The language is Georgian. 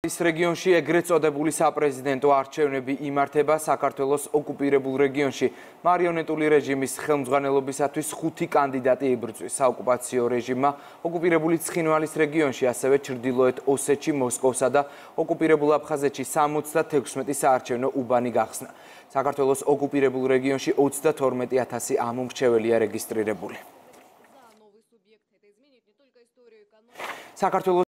ის რეგიონში ეგრეთ წოდებული საპრეზიდენტო არჩევნები იმართება საქართველოს ოკუპირებულ რეგიონში. მარიონეტული რეჟიმის ხელმძღვანელობისათვის 5 კანდიდატი იბრძვის. საოკუპაციო რეჟიმმა ოკუპირებული ცხინვალის რეგიონში, ასევე ჩრდილოეთ ოსეთში, მოსკოვსა და ოკუპირებულ აფხაზეთში 76 საარჩევნო უბანი გახსნა. საქართველოს ოკუპირებულ რეგიონში 32,000 ამომრჩეველია რეგისტრირებული. საქართველოს